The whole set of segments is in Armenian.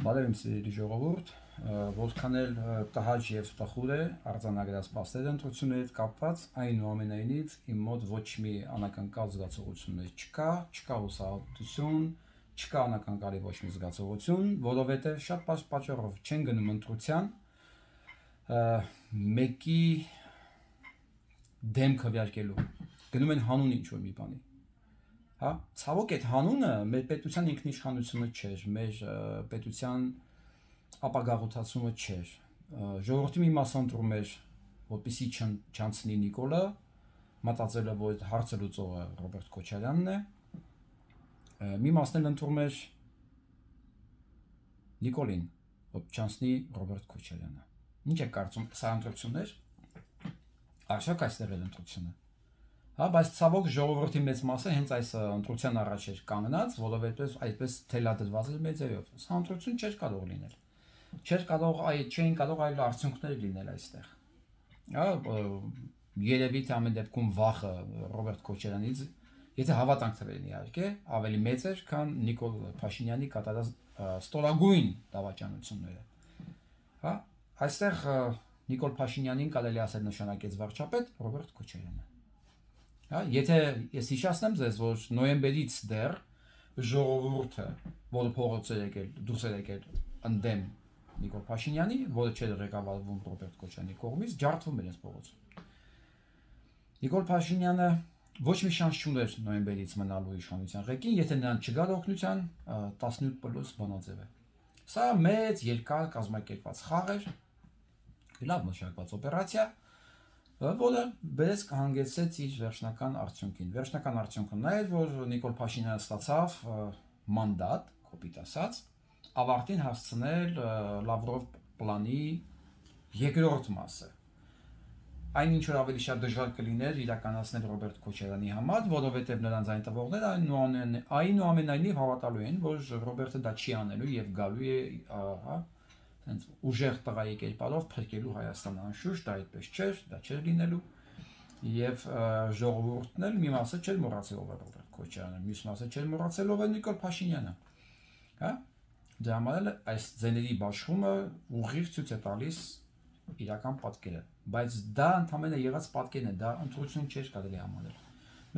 Բարև սիրելի ժողովուրդ, որքան էլ տհաճ եւ տխուր է արձանագրած փաստերի ընտրությունների հետ կապված, այնուամենայնիվ իմ մոտ ոչ մի անակնկալ զգացողություններ չկա հուսահատություն, չկա անակնկալի ոչ մի զգացողություն, որովհետեւ շատ բարձ պատճառով չեն գնում ընտրության, մեկի դեմ քվեարկելու, գնում են հանուն ինչ-որ մի բանի։ Հա, ցավոք այդ հանունը մեր պետության ինքնիշխանությունը չէր, մեր պետության ապագաղութացումը չէր։ Ժողովրդի մի մասը ընտրում էր, որպեսզի չանցնի Նիկոլը, մտածելով, որ հարցը լուծողը Ռոբերտ Քոչարյանն է։ Մի մասն էլ ընտրում էր Նիկոլին, որ չանցնի Ռոբերտ Քոչարյանը։ Ինչ է կարծում, սա ընտրություններ։ Արդյոք այստեղ է ընտրությունը։ Հա, բայց ցավոք ժողովրդի մեծ մասը հենց այս ընտրության առաջ էր կանգնած, որովհետև այդպես թելադրված էր մեծերով։ Սա ընտրություն չէր կարող լինել։ Չէին կարող այլ արդյունքներ լինել այստեղ։ Հա, երևի թե ամեն դեպքում վախը Ռոբերտ Քոչարյանից, եթե հավատանք թվերին իհարկե, ավելի մեծ էր, քան Նիկոլ Փաշինյանի կատարած ստորագույն դավաճանությունները։ Հա, այստեղ Նիկոլ Փաշինյանին կարելի ասել նշանակեց վարչապետ Ռոբերտ Քոչարյանը։ Հա, եթե ես հիշեցնեմ ձեզ, որ նոյեմբերից դեռ ժողովուրդը, որը փողոց էր եկել, դուրս էր եկել ընդդեմ Նիկոլ Փաշինյանի, որը չէր ղեկավարվում Ռոբերտ Քոչարյանի կողմից, ջարդվում էր այս փողոցում։ Նիկոլ Փաշինյանը ոչ մի շանս չուներ նոյեմբերից մնալու իշխանության ղեկին, եթե նրան չգար օգնության 17+ բանաձև է։ Սա մեծ երկար կազմակերպված խաղ էր, լավ մշակված օպերացիա, որը բերեց կհանգեցրեց իր վերջնական արդյունքին։ Վերջնական արդյունքը նա էր, որ Նիկոլ Փաշինյանը ստացավ մանդատ, կոպիտ ասած, ավարտին հասցնել Լավրով պլանի երկրորդ մասը։ Այնինչ որ ավելի շատ դժվար կլիներ իրականացնել Ռոբերտ Քոչարյանի համար, որովհետև նրանց այն տվողները այնուամենայնիվ հավատալու են, որ Ռոբերտը դա չի անելու եւ գալու է, հա, ուժեղ տղայի կերպարով փրկելու Հայաստանը, անշուշտ դա այդպես չէր, դա չէր լինելու եւ ժողովուրդն էլ մի մասը չէր մոռացել ով է Ռոբերտ Քոչարյանը, մյուս մասը չէր մոռացել ով է Նիկոլ Փաշինյանը, հա, դրա համար էլ այս ձեների բաշխումը ուղիղ ցույց է տալիս իրական պատկերը, բայց դա ընդհանրապես եղած պատկերն է, դա ընտրություն չէր կարելի համարել։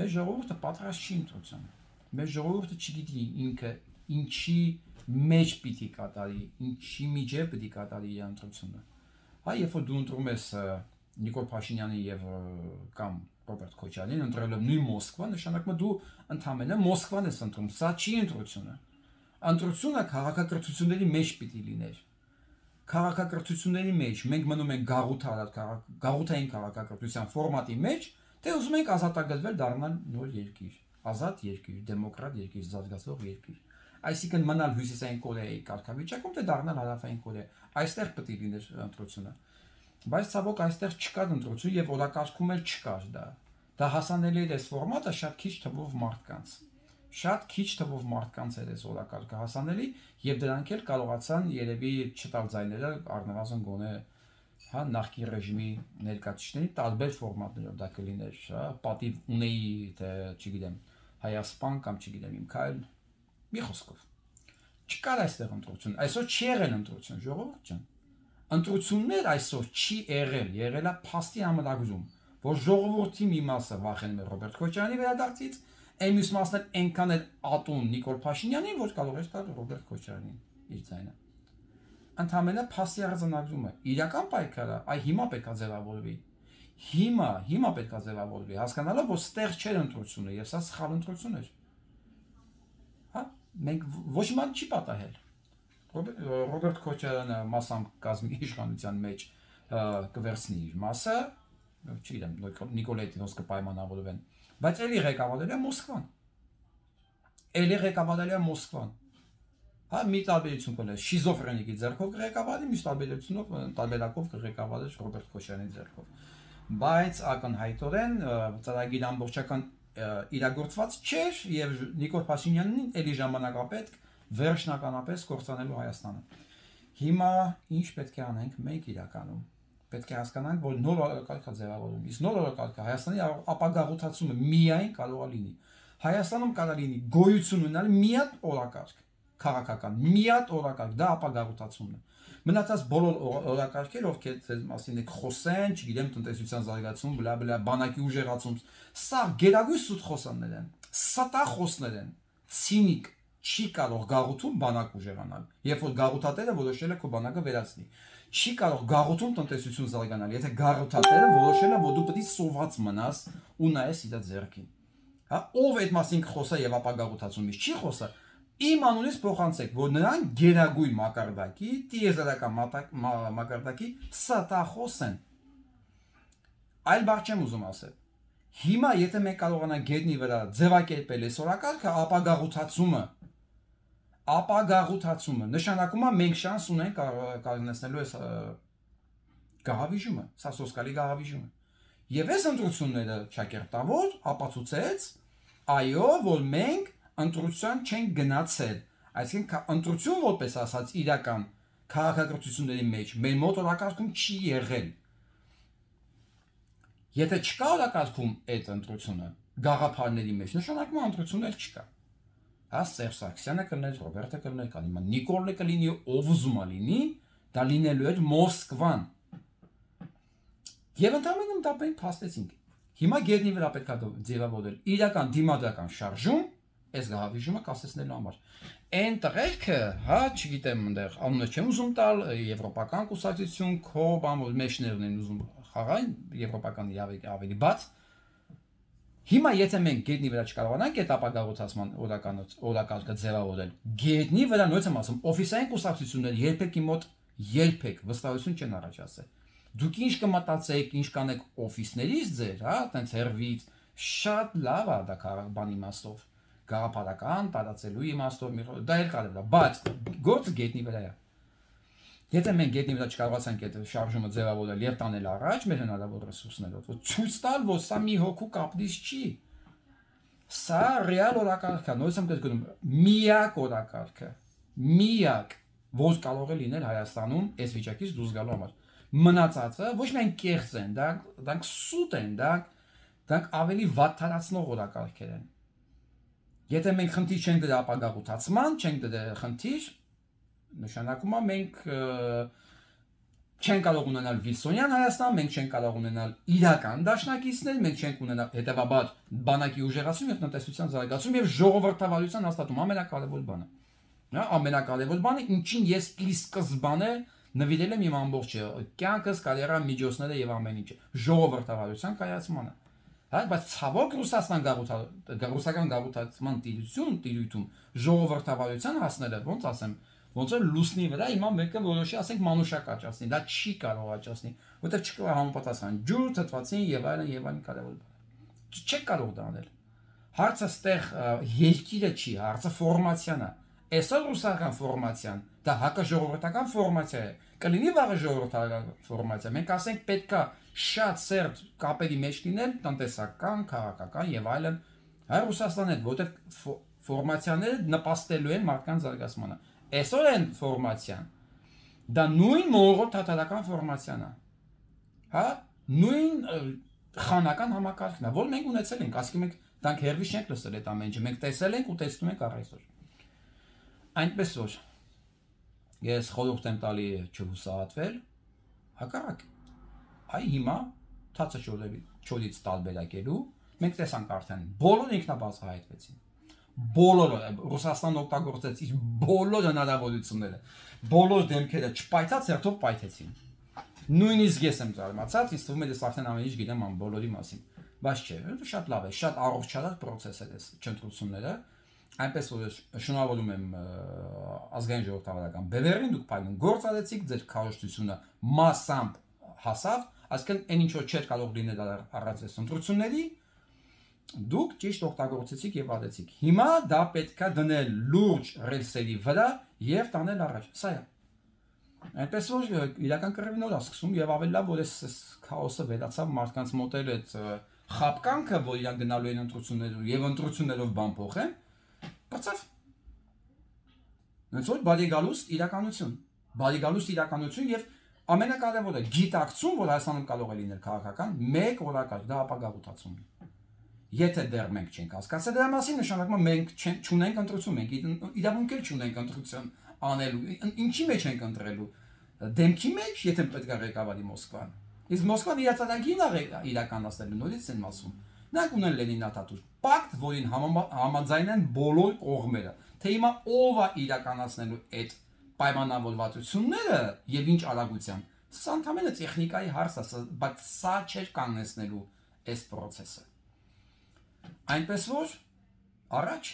Մեր ժողովուրդը պատրաստ չի ընտրության, մեր ժողովուրդը չգիտի ինքը ինչի մեջ պիտի կատարի, ինչի միջև պիտի կատարի իր ընտրությունը։ Հա, երբ որ դու ընտրում ես Նիկոլ Փաշինյանի եւ կամ Ռոբերտ Քոչարյանին ընտրելով նույն Մոսկվա, նշանակում է դու ընդհանրապես Մոսկվան ես ընտրում, սա չի ընտրությունը։ Ընտրությունը քաղաքակրթությունների մեջ պիտի լիներ։ Քաղաքակրթությունների մեջ մենք մնում ենք գաղութային քաղաքակրթության ֆորմատի մեջ, թե ուզում ենք ազատագրվել դառնալ նոր երկիր, ազատ երկիր, դեմոկրատ երկիր, զարգացող երկիր։ Այսինքն մնալ հյուսիսային Կորեայի կարգավիճակում, թե դառնալ հարավային Կորեա։ Այստեղ պետք է լիներ ընտրությունը։ Բայց ցավոք այստեղ չկար ընտրություն եւ օրակարգում էլ չկար դա։ Դա հասանելի էր այս ֆորմատը շատ քիչ թվով մարդկանց։ Շատ քիչ թվով մարդկանց էր այս օրակարգը հասանելի եւ դրանք էլ կարողացան երևի չտալ ձայները առնվազն գոնե հա նախկին ռեժիմի ներկայացուցիչների տարբեր ֆորմատներով դա կլիներ, հա, պատիվ ունեի, թե չգիտեմ, Հայասպան կամ չգիտեմ իմ քայլ, մի խոսքով։ Չկար այստեղ ընտրություն, այսօր չի եղել ընտրություն, ժողովուրդ ջան։ Ընտրություններ այսօր չի եղել է փաստի համարագրում, որ ժողովրդի մի մասը վախենում է Ռոբերտ Քոչարյանի վերադարձից, այն մյուս մասն էլ այնքան էլ ատում Նիկոլ Փաշինյանին, որ կարող էր տալ Ռոբերտ Քոչարյանին իր ձայնը։ Ընդհանրապես փաստի արձանագրումը, իրական պայքարը, այ հիմա պետք է ձևավորվի։ Հիմա պետք է ձևավորվի, հասկանալով, որ ստեղ չէր ընտրությունը, եւ սա սխալ ընտրություն էր։ Հա, մենք ոչ մի բան չի պատահել։ Ռոբերտ Քոչարյանը մասամբ կազմի իշխանության մեջ կվերցնի իր մասը, չգիտեմ, Նիկոլայի դոս կպայմանավորվեն, բայց էլի ղեկավարել է Մոսկվան։ Հա, մի տարբերություն կլինի, շիզոֆրենիկի ձեռքով կղեկավարի, մյուս տարբերակով կղեկավարի Ռոբերտ Քոչարյանի ձեռքով։ Բայց ակնհայտորեն ծրագիր ամբողջական իրագործված չէր եւ Նիկոլ Փաշինյանին էլի ժամանակապետք վերջնականապես կործանելու Հայաստանը։ Հիմա ինչ պետք է անենք մենք իրականում։ Պետք է հասկանանք, որ նոր օրակարգ է ձևավորվում։ Իսկ նոր օրակարգը Հայաստանի ապագաղութացումը միայն կարող է լինի։ Հայաստանում կարող լինի գոյություն ունենալ մի հատ օրակարգ, քաղաքական, մի հատ օրակարգ, դա ապագաղութացումն է։ Մնացած բոլոր օրակարգերը, ովքեր ձեզ մասին եք խոսեն, չգիտեմ, տնտեսության զարգացում, բլա բլա, բանակի ուժեղացում, սա գերագույն սուտ խոսաններ են, ստախոսներ են, ցինիկ, չի կարող գաղութում բանակ ուժեղանալ։ Երբ որ գաղութատերը որոշել է քո բանակը վերացնի, չի կարող գաղութում տնտեսություն զարգանալ, եթե գաղութատերը որոշել է, որ դու պետք է սոված մնաս ու նայես իր ձեռքին։ Հա, ով այդ մասին կխոսա եւ ապագաղութացումից չի խոսա, իմ անունից փոխանցեք, որ նրան գերագույն մակարդակի, տիեզերական մակարդակի ստախոս են։ Այլ բառ չեմ ուզում ասել։ Հիմա եթե մենք կարողանանք գետնի վրա ձևակերպել այս օրակարգը, ապագաղութացումը նշանակում է մենք շանս ունենք կանգնեցնելու այս գահավիժումը, սա սոսկալի գահավիժումը։ Եվ այս ընտրությունները ճակերտավոր ապացուցեց, այո, որ մենք ընտրության չենք գնացել, այսինքն ընտրություն որպես ասած իրական քաղաքակրթությունների մեջ մեր մոտ օրակարգում չի եղել։ Եթե չկա օրակարգում այդ ընտրությունը գաղափարների մեջ, նշանակում է ընտրություններ չկա։ Հա Սերժ Սարգսյանը կլներ, Ռոբերտը կլներ, կլինի Նիկոլը կլինի, ով ուզում է լինի, դա լինելու էր Մոսկվան։ Եվ ընդհանրապես դա մենք փաստեցինք։ Հիմա գետնի վրա պետք է ձևավորել իրական դիմադրական շարժում, այս գահավիժումը կասեցնելու համար։ Այն տղերքը, հա, չգիտեմ, այնտեղ անունը չեմ ուզում տալ, եվրոպական կուսակցություն, քո բան մեջներն են ուզում խաղալ, եվրոպականի ավելի բաց։ Հիմա եթե մենք գետնի վրա չկարողանանք այդ ապագաղութացման օրակարգը ձևավորել, գետնի վրա նույնպես եմ ասում, օֆիսային կուսակցությունները երբեք իմ մոտ երբեք վստահություն չեն առաջացել։ Դուք ինչ կմտածեք, ինչ կանեք օֆիսներից ձեր, հա, այտենց հերվից, շատ լավ է դա բան իմաստով, գաղափարական, տարածելու իմաստով, դա էլ կարելի է, բայց գործը գետնի վրա է։ Եթե մենք գետնի վրա չկարողացանք այդ շարժումը ձևավորել եւ տանել առաջ մեր հնարավոր ռեսուրսներով, որ ցույց տալ, որ սա մի հոգու կապրիչ չի։ Սա ռեալ օրակարգ է, նույնիսկ եմ կրկնում, միակ օրակարգը, միակ, որ կարող է լինել Հայաստանում այս վիճակից դուրս գալու համար։ Մնացածը ոչ միայն կեղծ են, դրանք սուտ են, դրանք ավելի վատթարացնող օրակարգեր են։ Եթե մենք խնդիր չենք դրա ապագաղութացման, չենք դրա խնդիր, նշանակում է մենք չենք կարող ունենալ Վիլսոնյան Հայաստան, մենք չենք կարող ունենալ իրական դաշնակիցներ, մենք չենք ունենալ հետևաբար բանակի ուժեղացում եւ տնտեսության զարգացում եւ ժողովրդավարության հաստատում, ամենակարևոր բանը։ Հա, ամենակարևոր բանը, ինչին ես ի սկզբանե նվիրել եմ իմ ամբողջ կյանքս, կարիերան, միջոցները եւ ամեն ինչը ժողովրդավարության կայացմանը։ Հա, բայց ցավոք ռուսական գաղութացման տիրույթում ժողովրդավարության հասնելը, ոնց ասեմ, ոնց որ լուսնի վրա հիմա մեկը որոշի, ասենք մանուշակ աճացնի, դա չի կարող աճացնի, որտեղ չկա համապատասխան ջուր, թթվածին եւ այլն կարևոր բան։ Չեք կարող դա անել։ Հարցը ստեղ երկիրը չի, հարցը ֆորմացիան է։ Այսօր ռուսական ֆորմացիան, դա հակաժողովրդական ֆորմացիա է, կլինի վաղը ժողովրդական ֆորմացիա։ Մենք ասենք պետքա շատ սերտ կապերի մեջ լինել տնտեսական, քաղաքական եւ այլն, հայ Ռուսաստանի հետ, որտեղ ֆորմացիաները նպաստելու են մարդկանց զարգացմանը։ Այսօր են ֆորմացիան, դա նույն մոնղոլ թաթարական ֆորմացիան է, հա, նույն խանական համակարգն է, որ մենք ունեցել ենք, ասկի մենք դրանք հերվից չենք լսել այդ ամեն ինչը, մենք տեսել ենք ու տեսնում ենք առայսօր։ Այնպես որ ես խորհուրդ եմ տալի չհուսահատվել, հակառակ, այ հիմա թացը չորից տարբերակելու, մենք տեսանք արդեն բոլոր ինքնաբացահայտվեցին։ Բոլորը Ռուսաստանն օգտագործեց իր բոլոր հնարավորությունները, բոլոր դեմքերը չպայթած հերթով պայթեցին։ Նույնիսկ ես եմ զարմացած, ինձ թվում է ես արդեն ամեն ինչ գիտեմ բոլորի մասին, բայց չէ, շատ լավ է, շատ առողջարար process է այս չընտրությունները, այնպես որ շնորհավորում եմ ազգային ժողովրդավարական բևեռին, դուք փայլուն գործ արեցիք, ձեր քարոզությունը մասամբ հասավ, այսինքն այն ինչ որ չէր կարող լինել առանց այս ընտրությունների, դուք ճիշտ օգտագործեցիք եւ արեցիք։ Հիմա դա պետքա դնել լուրջ ռելսերի վրա եւ տանել առաջ։ Սա է։ Այնպես որ իրական կռիվն օր է սկսում եւ ավելի լավ որ այս քաոսը վերացավ մարդկանց մոտ էլ այդ խապկանքը, որ իրան գնալու են ընտրություններով եւ ընտրություններով բան փոխեն, բացավ։ Ոնց որ բարիգալուստ իրականություն եւ ամենակարևորը գիտակցում, որ Հայաստանում կարող է լինել քաղաքական մեկ օրակարգ, դա ապագաղութացումն է։ Եթե դեռ մենք չենք հասկացել դրա մասին, նշանակում է մենք չունենք ընտրություն, մենք իրավունք էլ չունենք ընտրություն անելու։ Ինչի մեջ ենք ընտրելու։ Դեմքի մեջ, եթե պետք է ղեկավարի Մոսկվան։ Իսկ Մոսկվան իրականագին իրականացնելու նորից են ասում։ Նրանք ունեն Լենինաթաթուր պակտ, որին համաձայն են բոլոր կողմերը։ Թե հիմա ով է իրականացնելու այդ պայմանավորվածությունները եւ ինչ արագության։ Սա ընդհանրապես տեխնիկայի հարց է, բայց սա չէր կանգնեցնելու այս process-ը։ Այնպես որ առաջ